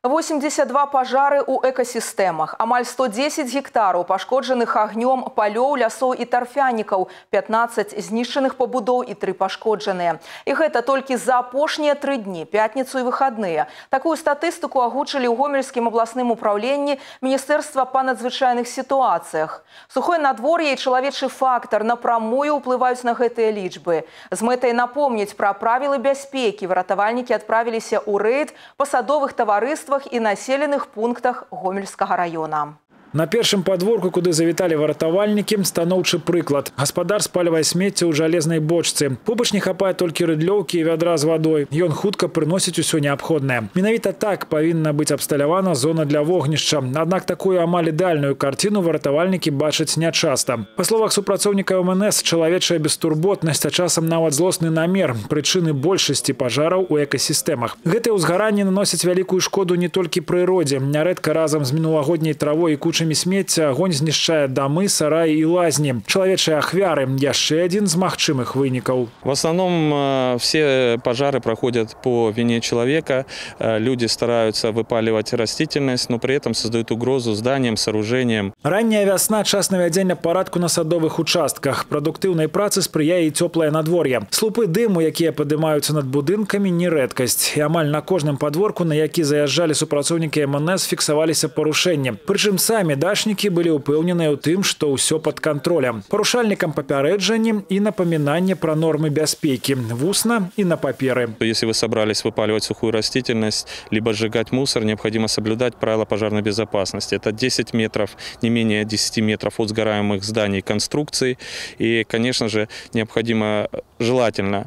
82 пажары ў экасістэмах, амаль 110 гектараў пашкоджаных агнём палёў, лясоў і тарфянікаў, 15 знішчаных пабудоў і 3 пашкоджаныя. І гэта толькі за апошнія 3 дні, пятніцу і выхадныя. Такую статыстыку агучылі ў Гомельскім абласным управленні Міністэрства па надзвычайных сітуацыях. Сухое надвор'е і чалавечы фактар напрамую ўплываюць на гэтыя лічбы. З мэтай напомніць пра правілы бяспекі выратавальнікі адправіліся ў рэйд па садовых таварыствах і населеных пунктах Гомельскага района. На першым падворку, куды завіталі выратавальнікі, станоўчы прыклад. Гаспадар спальвае смецце ў жалезнай бочцы. Побач не хапае толькі рыдлёўкі і вядра з вадой. Ён хутка прыносіць усё неабходнае. Менавіта так павінна быць абсталявана зона для вогнішча. Аднак такую амаль ідэальную карціну выратавальнікі бачаць нячаста. Па словах супрацоўніка МНС, чалавечая бестурботнасць, а часам нават злосны намер – прычыны большасці пажараў у экасістэмах. Гэтыя ўзгаранні наносяць вялікую шкоду не толькі прыродзе. Нярэдка разам з мінулагодняй травой і кучамі смецця агонь знішчае дамы, сараі і лазні. Чалавечыя ахвяры – яшчэ адзін з магчымых вынікаў. В основном все пожары проходят по вине человека. Люди стараются выпаливать растительность, но при этом создают угрозу зданиям, сооружениям. Ранняя вясна – час навядзення парадку на садовых участках. Прадуктыўнай працы спрыяе і цёплае надвор'е. Слупы дыму, якія падымаюцца над будынкамі, не рэдкасць. І амаль на кожным падворку, на які заязджалі супрацоўнікі МНС, фіксаваліся парушэнні. Прычым самі дачнікі былі ўпэўненыя ў тым, што ўсё пад кантролем. Парушальнікам папярэджанні і напамінанне пра нормы бяспекі. Вусна і на паперы. Если вы собрались выпаливать сухую растительность, либо сжигать мусор, необходимо соблюдать правила пожарной безопасности. Это 10 метров, не менее 10 метров от сгораемых зданий, конструкций. И, конечно же, необходимо желательно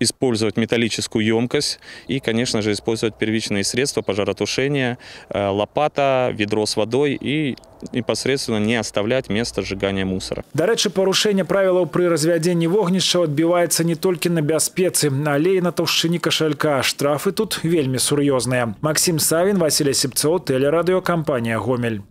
использовать металлическую емкость и, конечно же, использовать первичные средства пожаротушения, лопата, ведро с водой и непосредственно не оставлять место сжигания мусора. Дарэчы, парушэнне правілаў пры развядзенні вогнішча адбіваецца не толькі на бяспецы, але і на таўшчыні кашалька. Штрафы тут вельмі сур'ёзныя. Максим Савін, Василий Сипцов, телерадиокомпания «Гомель».